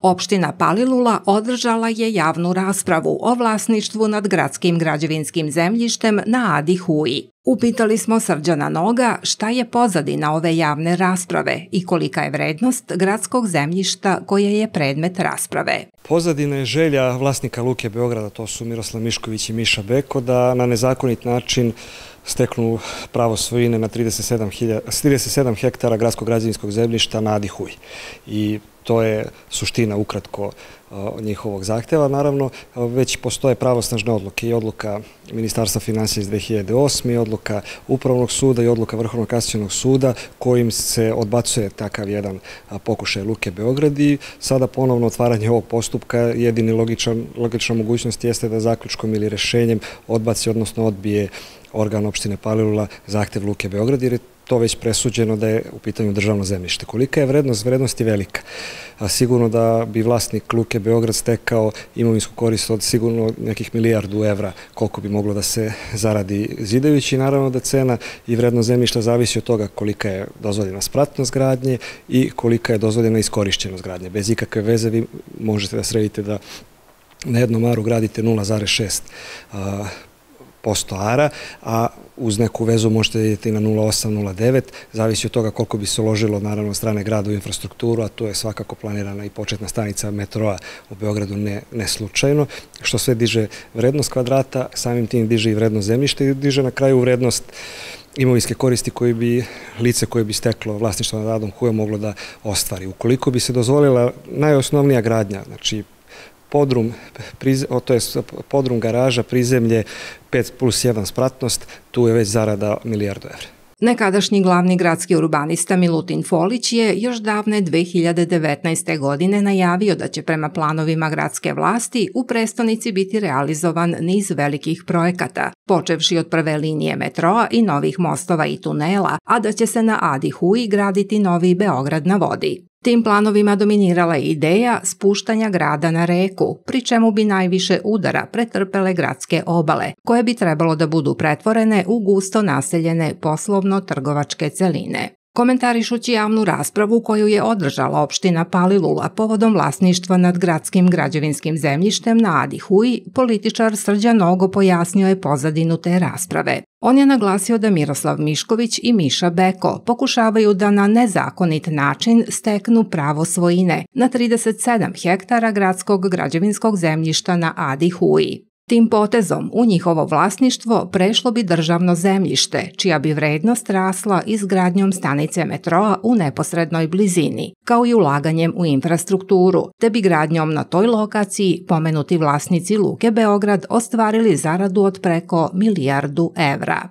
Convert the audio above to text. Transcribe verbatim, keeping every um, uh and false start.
Opština Palilula održala je javnu raspravu o vlasništvu nad gradskim građevinskim zemljištem na Adi Huji. Upitali smo Srđana Noga šta je pozadina ove javne rasprave i kolika je vrednost gradskog zemljišta koje je predmet rasprave. Pozadina je želja vlasnika Luke Beograda, to su Miroslav Mišković i Miša Beko, da na nezakonit način steknu pravo svojine na trideset sedam hektara gradskog građevinskog zemljišta na Adi Huji. I to je suština ukratko njihovog zahteva. Naravno, već postoje pravosnažne odluke i odluka Ministarstva finansija iz dve hiljade osme. i odluka Upravnog suda i odluka Vrhovnog kasacionog suda kojim se odbacuje takav jedan pokušaj Luke Beograd i sada ponovno otvaranje ovog postupka jedini logična mogućnost jeste da zaključkom ili rešenjem odbaci, odnosno odbije organ opštine Palilula zahtev Luke Beograd, jer je to već presuđeno da je u pitanju državno zemljište. Kolika je vrednost? Vrednost je velika. Sigurno da bi vlasnik Luke Beograd stekao imovinsku korist od sigurno nekih milijardu evra koliko bi moglo da se zaradi zidajući. Naravno da cena i vrednost zemljišta zavisi od toga kolika je dozvoljena spratnost gradnje i kolika je dozvoljena iskorišćenost gradnje. Bez ikakve veze vi možete da sredite da na jednom aru gradite nula zarez šest posto ara, a uz neku vezu možete vidjeti i na nula zarez osam, nula zarez devet, zavisi od toga koliko bi se uložilo naravno od strane grada u infrastrukturu, a tu je svakako planirana i početna stanica metroa u Beogradu ne slučajno, što sve diže vrednost kvadrata, samim tim diže i vrednost zemljišta i diže na kraju vrednost imovinske koristi koje bi lice koje bi steklo vlasništvo nad Adom Hujom moglo da ostvari. Ukoliko bi se dozvolila najosnovnija gradnja, znači podrum, to je podrum garaža, prizemlje, pet plus jedan spratnost, tu je već zarada milijardu evra. Nekadašnji glavni gradski urbanista Milutin Folić je još davne dve hiljade devetnaeste. godine najavio da će prema planovima gradske vlasti u prestonici biti realizovan niz velikih projekata, počevši od prve linije metroa i novih mostova i tunela, a da će se na Adi Huji graditi novi Beograd na vodi. Tim planovima dominirala je ideja spuštanja grada na reku, pri čemu bi najviše udara pretrpele gradske obale, koje bi trebalo da budu pretvorene u gusto naseljene poslovno-trgovačke celine. Komentarišući javnu raspravu koju je održala opština Palilula povodom vlasništva nad gradskim građevinskim zemljištem na Adi Huji, političar Srđan Nogo pojasnio je pozadinu te rasprave. On je naglasio da Miroslav Mišković i Miša Beko pokušavaju da na nezakonit način steknu pravo svojine na trideset sedam hektara gradskog građevinskog zemljišta na Adi Huji. Tim potezom u njihovo vlasništvo prešlo bi državno zemljište, čija bi vrednost rasla izgradnjom stanice metroa u neposrednoj blizini, kao i ulaganjem u infrastrukturu, te bi gradnjom na toj lokaciji pomenuti vlasnici Luke Beograd ostvarili zaradu od preko milijardu evra.